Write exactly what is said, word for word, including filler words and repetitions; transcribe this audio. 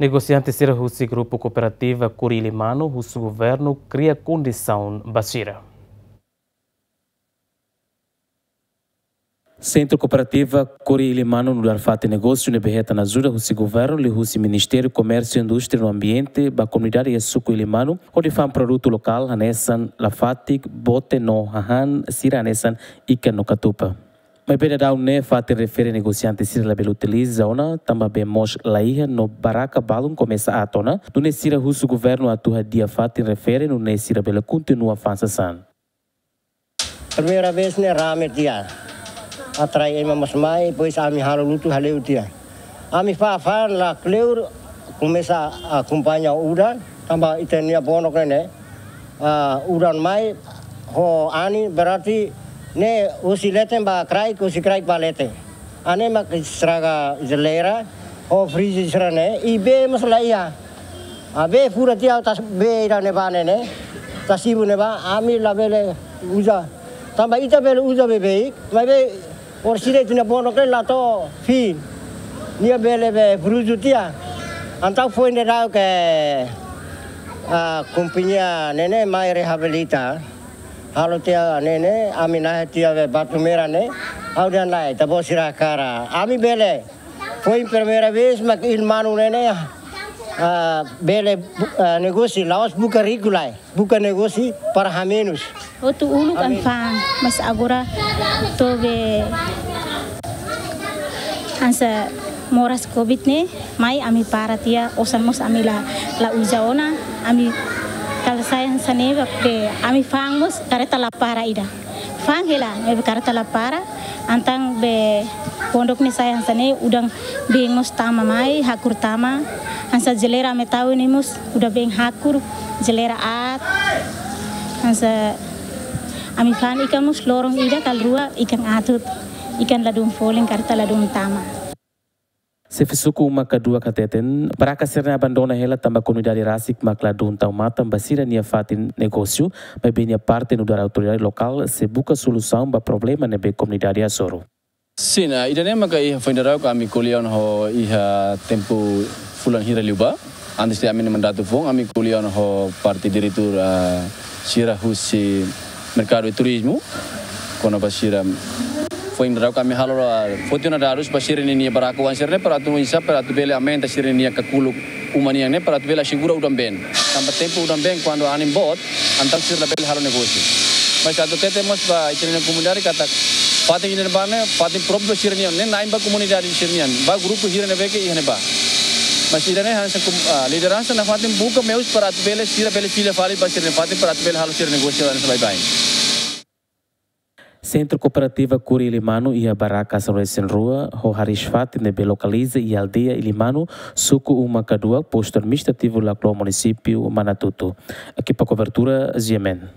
Negosiante sira husi grupu kooperativa Kuri Ilimanu husu governu kria kondisaun ba sira. Sentru Kooperativa Kuri Ilimanu nu'udar fatin negósiu ne'ebé hetan ajuda husi governu liuhusi Ministériu Komérsiu, Indústria no Ambiente ba komunidade iha suku Ilimanu, hodi fa'an produtu lokál hanesan lafatik, bote no hahán sira hanesan ikan no katupa. Maibé daudaun ne'e fatin refere negosiante sira labele utiliza ona, tanba bee mós laiha no barraka balun komesa aat ona, nune'e sira husu governu atu hadi'a fatin refere nune'e sira bele kontinua fa'an sasán. Primeira vez ne'e rame tiha. Atrai ema mós mai, depois ami halo lutu hale'u tiha. Ami fa'an fa'an la kleur, komesa akompaña udan, tanba ita-nia bonok ne'e, ah, udan mai, ho anin berarti ne'e husi leten ba kraik, husi kraik ba leten. Hanesan mak estraga jeleira, ho frizi sira-ne'e, i bee mós laiha. Ah, bee fura tiha, tas bee ida ne'ebá ne'e, tasibu ne'ebá, ami labele uza. Tanba ita bele uza beibeik, maibé orsida ita-nia bonok ne'e la to'o fin. Nia bele bee bruzu tiha. Entaun foin daudauk, ah, kompañia ne'e ne'e mai reabilita. Halo tiha ne'e ne'e, ami nahe tiha be Batumera ne'e, ha'u dehan lae, ita-boot sira hakarak. Ami bele, foin primeira vez mak Ilimanu ne'e ne'e, ah, bele bu-, ah, negósiu, la'ós buka riku lae, buka negósiu para hamenus. Hotu uluk ami fa'an, mas agora to'o be hanesan moras covid ne'e, mai ami para tiha, osan mós ami la, la uza ona, ami kala sai hanesan ne'e, be ami fa'an mós kareta la para ida. Fa'an hela, be kareta la para, entaun be pondok ne'e sai hanesan ne'e, udan been mós tama mai, hakur tama, hanesan jeleira ami tau ne'e mós, udan been hakur, jeleira aat, hanesan ami fa'an ikan mós loron ida ka rua ikan aat hotu, ikan ladún folin kareta ladún tama. Xefe suku Uma Kaduak hateten, barraka sira-ne'e abandona hela tanba komunidade rasik mak ladún tau matan ba sira-nia fatin negósiu, maibé nia parte nu'udar autoridade lokál sei buka solusaun ba problema ne'ebé komunidade hasoru. Sin, ah, ida-ne'e maka iha foin daudauk ami ko'alia ona ho iha tempu fulan hira liubá. Antes de ami-nia mandatu foun, ami ko'alia ona ho parte diretór, ah, sira husi merkadu i turizmu. Kona-ba sira foin daudauk ami halo, ah, foti ona dadus ba sira-ninia barraka oan sira-ne'e para atu oinsá para atu bele aumenta sira-ninia kakuluk uma nian ne'e para atu bele asegura udan been. Tanba tempu udan been kuandu anin boot, entaun sira labele halo negósiu. Mas atu hatete mós ba ita-nia komunidade katak fatin ida-ne'ebá ne'e fatin própriu sira-nian, ne'e na'in ba komunidade sira-nian, ba grupu hira ne'ebé ke iha ne'ebá. Mas ida-ne'e hanesan kum-, ah, lideransa nafatin buka meius para atu bele sira bele fila fali ba sira-nia fatin para atu bele halo sira negósiu hanesan baibain. Sentru Kooperativa Kuri Ilimanu iha barraka sanulu-resin-rua, ho hariis fatin ne'ebé lokaliza iha aldeia Ilimanu, suku Uma Kaduak, postu administrativu Laclo, munisípiu Manatuto. Ekipa kobertura, G M N.